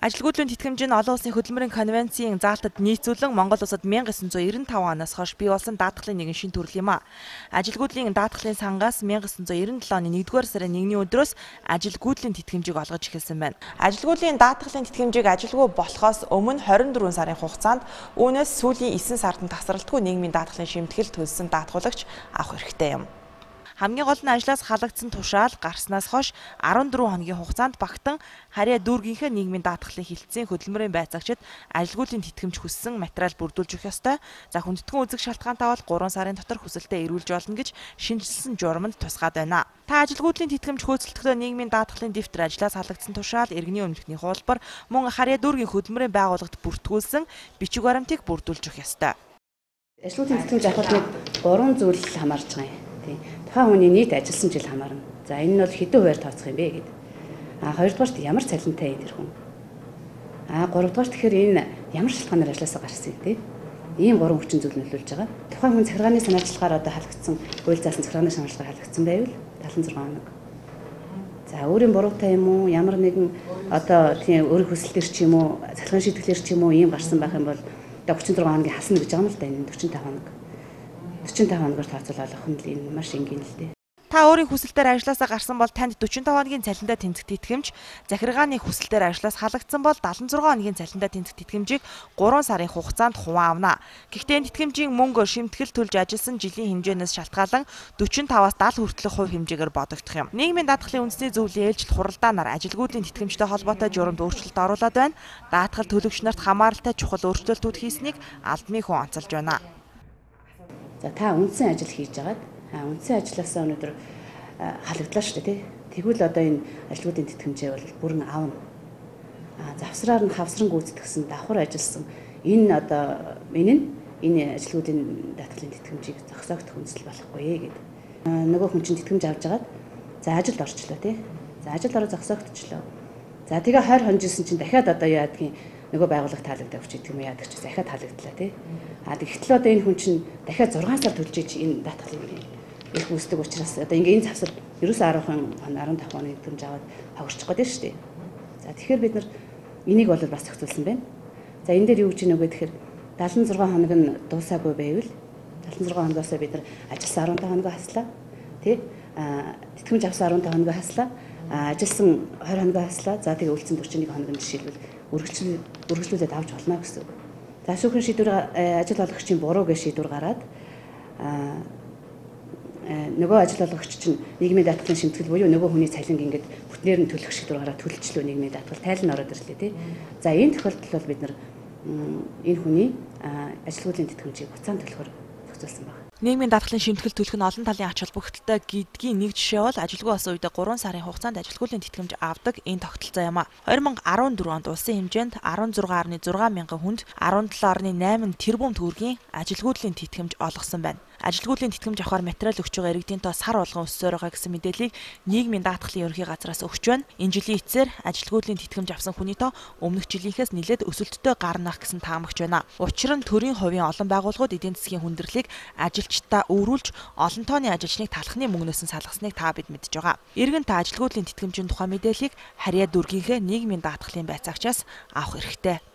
Ажилгүйдлийн тэтгэмж нь олон улсын хөдөлмөрийн конвенцийн заалтад нийцүүлэн Монгол улсад 1995 оноос хойш бий болсон даатгалын нэгэн шинэ төрөл юм а. Ажилгүйдлийн даатгалын сангаас 1997 оны 1-р сарын 1-ний өдрөөс ажилгүйдлийн тэтгэмжийг олгож эхэлсэн байна. Ажилгүйдлийн даатгалын тэтгэмжийг ажилгүй болохоос өмнө 24 сарын хугацаанд үүнээс сүүлийн 9 сард нь тасралтгүй нийгмийн даатгалын шимтгэл төлсөн даатгуулагч авах хэрэгтэй юм. Хамгийн гол нь ажлаас халагдсан тушаал гарснаас хойш 14 хоногийн хугацаанд багтан харьяа дүүргийнхээ нийгмийн даатгалын хилцээний хөдөлмөрийн байцаагчид ажилгүйдлийн тэтгэмж хүссэн материал бүрдүүлж өгөх ёстой. За хүндэтгэн үзэх шалтгаантай бол 3 сарын дотор хүсэлтээ эрүүлж болно гэж шинжилсэн журамд тусгаад байна. Та ажилгүйдлийн тэтгэмж хөөцөлдөхдөө нийгмийн даатгалын дэвтэр, ажлаас халагдсан тушаал, иргэний өмнөхний хуулбар, мөн харьяа дүүргийн хөдөлмөрийн байгууллагт бүртгүүлсэн бичиг баримтыг бүрдүүлж өгөх ёстой. Ажилгүйдлийн тэтгэмж авахд 3 зүйл хамаарч байгаа юм. Тухайн хүний нийт ажилласан жил хамаарна. За энэ нь бол хэдэн хувиар тооцох юм бэ гэдэг. Хоёрдугаарт ямар цалинтай энэ хүн. Гуравдугаарт тэгэхээр энэ ямар шалтгаанаар ажилласаа гарсан тийм. Ийм 3 хүчин зүйл нөлөөлж байгаа. Тухайн хүн захиргааны санаачлалгаар одоо халагдсан, хууль заасан захиргааны санаачлалгаар халагдсан байвал 76 хоног. За өөрийн буруутай юм уу? Ямар нэгэн одоо тийм өөрийн хүсэлтээр ч юм уу, захиргааны шийдвэрлэлээр ч юм уу ийм гарсан байх юм бол 36 хоногийн хасна гэж байгаа юм л да энэ 45 хоног. 45 хоногоор тооцоолох нь л энэ маш энгийн л дээ. Та өөрийн хүсэлтээр ажлаасаа гарсан бол танд 45 хоногийн цалинтай тэнцэх тэтгэмж, захиргааны хүсэлтээр ажлаас халагдсан бол 76 хоногийн цалинтай тэнцэх тэтгэмжийг 3 сарын хугацаанд хуваан авна. Гэхдээ энэ тэтгэмжийн мөнгө шимтгэл төлж ажилласан жилийн хэмжээнээс шалтгаалan 45-аас 70 хүртэлх хувь хэмжээгээр бодогдох юм. Нийгмийн даатгалын үндэсний зөвлөлийн ээлжил хуралдаанаар ажилгүйдлийн тэтгэмжтэй холбоотой журамд өөрчлөлт оруулаад байна. Даатгал төлөгч нарт хамааралтай чухал өөрчлөлтүүд хийснийг албаны хүн онцолж байна. За та үндсэн ажил хийж агаад үндсэн ажилласаа өнөөдөр халагдлаа шүү дээ тий. Тэгвэл одоо энэ ажилгүйдийн тэтгэмжээ бол бүрэн аавна. Завсраар нь хавсран гүйцэтгсэн давхар ажилласан энэ одоо энэ ажилгүйдийн даатгалын тэтгэмжийг зогсоогдох үндэслэл болохгүй гэдэг. Нөгөө хүн чинь тэтгэмж авч агаад за ажилд орчлоо тий. За ажилд ороо зогсоогдчихлоо. За тэгээ 20 хонжсэн чинь дахиад одоо яадгийн нөгөө байгууллага таалагдав гэж гэдэг юм яадаг ч дахиад таалагдлаа тий. Тэгэхдээ одоо энэ хүн чинь дахиад 6 сар төлж иж энэ даатгалыг их үүсдэг учраас одоо ингээ энэ завсар ерөөсөө 15 хоногийн тэтгэмж аваад хогсчих гээд шүү дээ. За тэгэхээр бид нар энийг бол бас зохицуулсан байна. За энэ дээр юу гэж нэг гэхээр 76 хоног нь дуусаагүй байвал 76 хоногоос бид нар ажилласан 15 хоногоо хаслаа тий. Тэтгэмж авсан 15 хоногоо хаслаа. Ажилласан 20 хоногоо хаслаа. За тэгээ үлдсэн 41 хоног нь жишээлбэл үргэлжлүүлээд авч болно гэсэн үг. За шүүхийн шийдвэр ажил олгогчийн буруу гэж шийдвэр гараад нөгөө ажил олгогч чинь нийгмийн даатгалын шимтгэл буюу нөгөө хүний цалинг ингээд бүтнээр нь төлөх шийдвэр гараад төлөлчлөө нийгмийн даатгал тайлан ороод ирлээ тий. За энэ тохиолдолд бол бид нар энэ хүний ажилгүйдлийн тэтгэмжийг буцаан төлөхөөр зохицуулсан байна. Нийгмийн даатгалын шимтгэл төлөх нь олон талын ач холбогдолтой гэдгийн нэг жишээ бол ажилгүй болсон үедээ 3 сарын хугацаанд ажилгүйдлийн тэтгэмж авдаг энэ тогтолцоо юм а. 2014 онд улсын хэмжээнд 16.6 мянган хүнд 17.8 тэрбум төгрөгийн ажилгүйдлийн тэтгэмж олгосон байна. Ажилгүйдлийн тэтгэмж авахар материал өгч байгаа иргэдийн тоо сар болгон өссөөр байгаа гэсэн мэдээллийг нийгмийн даатгалын ерөнхий газраас өгч байна. Энэ жилийн эцсээр ажилгүйдлийн тэтгэмж авсан хүний тоо өмнөх жилийнхээс нэлээд өсөлттэй гарнах гэсэн таамагч байна. Учир нь төрийн хувийн олон байгууллагууд эдийн засгийн хүндрэлийг ажилчдаа өөрүүлж олон тооны ажилчныг талхны мөнгнөөс нь салгасныг та бид мэдж байгаа. Иргэн та ажилгүйдлийн тэтгэмжийн тухай мэдээллийг харьяа дүүргийнхээ нийгмийн даатгалын байцаагчаас авах хэрэгтэй.